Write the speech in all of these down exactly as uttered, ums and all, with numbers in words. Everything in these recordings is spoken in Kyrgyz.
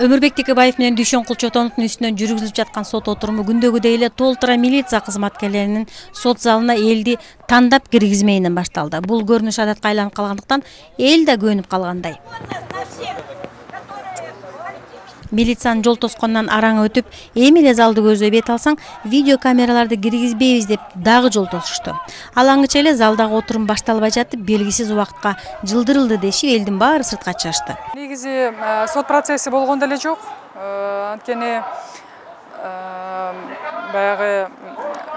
Өмүрбек Текебаев менен Дүйшөнкул Чотоновдун үстүнөн жүргүзүлүп жаткан сот отуруму күндөгүдөй эле толтура милиция кызматкерлеринин сот залына элди тандап киргизмейинен башталды. Бул көрүнүш адатка айланып калгандыктан эл да көнүп калгандай. Милициянын жол тосконунан араң өтүп, эми эле залды көздөй бет алсаң, видео камераларды киргизбейбиз деп дагы жол тосушту. Алаңыча эле залдагы отурум башталбай жатып, белгисиз убакытка жылдырылды дешип, элдин баары сыртка чыгышты. Негизи сот процесси болгон деле жок. Анткени баягы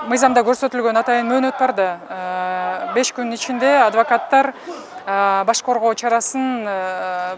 мыйзамда көрсөтүлгөн атайын мөөнөт бар да. беш күн ичинде адвокаттар баш коргоо чарасын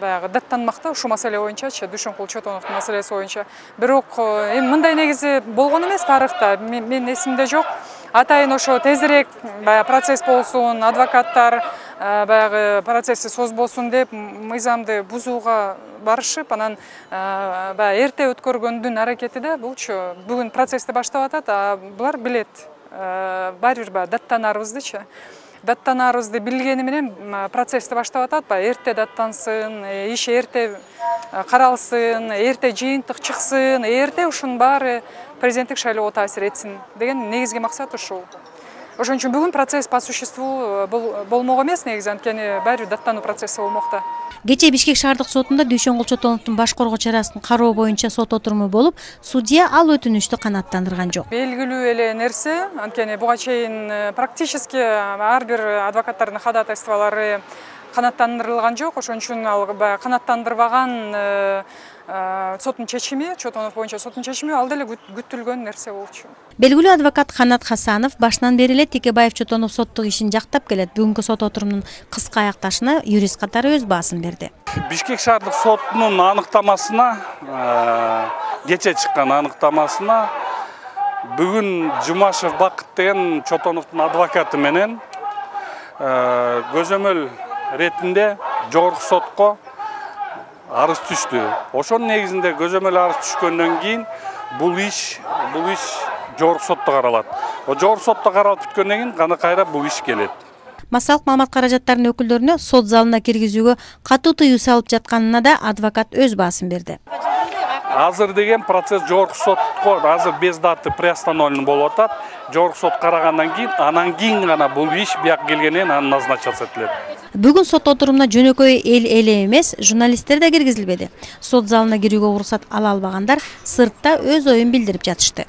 баягы даттанмакта ушул маселе боюнчачы, Дүйшөнкул Чотоновдун маселеси боюнча. Бирок эми мындай негизи болгон эмес тарыхта, менин эсимде жок. Атайын ошо тезирээк баягы процесс болсун, адвокаттар баягы процессти созбосун деп мыйзамды бузууга барышып, анан баягы эрте өткөргөндүн аракети да булчу. Бүгүн процессти баштап атат, а булар билет. Баары бир баягы даттанарбыздычы. Даттанарыбызды билгени менен процессти баштап атат, баягы эрте даттансын, иш эрте каралсын, эрте жыйынтык чыксын, эрте ушунун баары президенттик шайлоого таасир этсин деген негизги максат ушул. Ошон үчүн бүгүн процесс по существу болмок эмес негизи, анткени баары бир даттануу процесси болмокта. Кечээ Бишкек шаардык сотунда Дүйшөнкул Чотоновдун баш коргоо чарасын кароо боюнча сот отуруму болуп, судья ал өтүнүштү канааттандырган жок. Белгилүү эле нерсе, анткени буга чейин практически ар бир адвокаттардын ходатайстволору канааттандырылган жок. Ошон үчүн ал канааттандырбаган соттун чечими, Чотонов боюнча соттун чечими ал деле күтүлгөн нерсе болчу. Белгилүү адвокат Канат Хасанов башынан бери эле Текебаев Чотонов соттук ишин жактап келет. Бүгүнкү сот отурумунун кыска аякташына юрист катары өз баасын берди. Бишкек шаардык сотунун аныктамасына, кечээ чыккан аныктамасына бүгүн Жумашев Бакыт деген Чотоновдун адвокаты менен көзөмөл ретинде жогорку сотко арыз түштү. Ошонун негизинде көзөмөл арыз түшкөндөн кийин бул иш, бул иш жогорку сотто каралат. О жогорку сотто каралып бүткөндөн кийин гана кайра бул иш келет. Массалык маалымат каражаттарынын өкүлдөрүнө сот залына киргизүүгө катуу тыюу салып жатканына да адвокат өз баасын берди. Азыр деген процесс жогорку сотко азыр без даты приостановлен болуп атат. Жогорку сот карагандан кийин, анан кийин гана бул иш бияк келгенден анан назначаться этилет. Бүгүн сот отурумуна жөнөкөй эл эле эмес, журналисттер да киргизилбеди. Сот залына кирүүгө уруксат ала албагандар сыртта өз оюн билдирип жатышты.